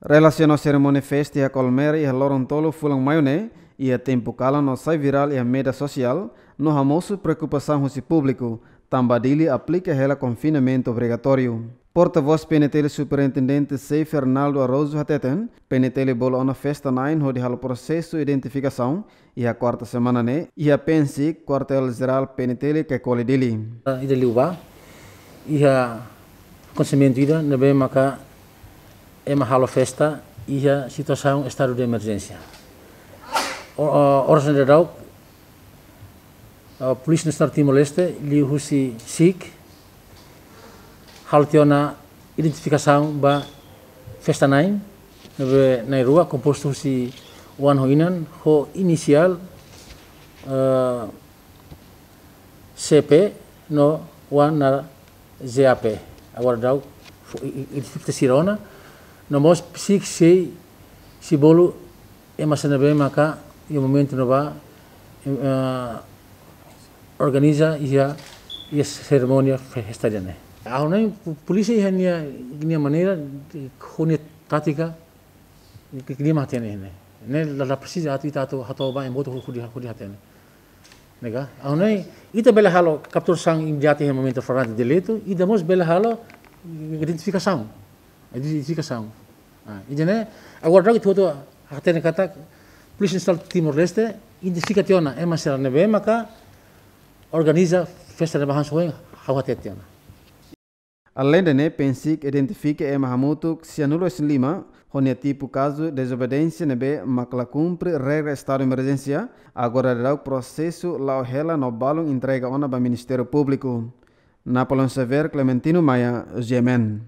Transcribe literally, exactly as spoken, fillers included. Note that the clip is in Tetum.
Relasiona ho serimónia festa iha Colmera iha loron tolu fulan Maiu ne'e, iha tempu kalan no sai virál iha média sosiál, no hamosu preokupasaun husi públiku, tanba Dili aplika hela konfinamentu obrigatóriu. Portavós P N T L Superintendente Sei Fernaldo Araújo hateten, P N T L bolu ona festa na'in hodi halo prosesu identifikasaun, iha kuarta semana ne'e, iha PNSIC, Kuartél Jerál P N T L Caicoli Dili. Ida liubá, iha akontesimentu ida ne'ebé maka ema halo festa iha situasaun estadu de emerjénsia. O, o, oras ne'e daudaun, ah, Polísia Nasionál Timor-Leste, liuhusi SIC, halo tiha ona identifikasaun ba festa na'in, ne'ebé na'in-rua kompostu husi oan ho inan, ho inisiál, eh, C P no oan naran J A P. Agora daudaun fó i-, i-, identifika sira ona, no mós SIC sei, sei bolu ema sira ne'ebé maka iha momentu ne'ebá, eh, organiza iha, iha serimónia festa ida-ne'e. Ha'u hanoin po-, polísia iha nia, nia maneira, ho nia tátika, ke, ke nia mak hatene ne'e. Ne'e la, la presiza atu ita atu hato'o ba ema hotu hodi, hodi hatene. Ne'e ka? Ha'u hanoin, ita bele halo kapturasaun imediata iha momentu flagrante delitu, ita mós bele halo identifikasaun. Identifikasaun. Ah, ida-ne'e, agora daudaun ita hotu hatene katak, Polísia Nasionál Timor-Leste identifika tiha ona ema sira ne'ebé maka organiza festa ne'ebá hanesan ohin ha'u hateten tiha ona. Aleinde ne'e, PNSIC identifika ema hamutuk sianulu-resin-lima, ho nia tipu kazu dezobediénsia ne'ebé mak la kumpre regra estadu emerjénsia, agora daudaun prosesu la'o hela no balun entrega ona ba Ministériu Públiku. Napoleão Xavier, Clementino Maia, G M N.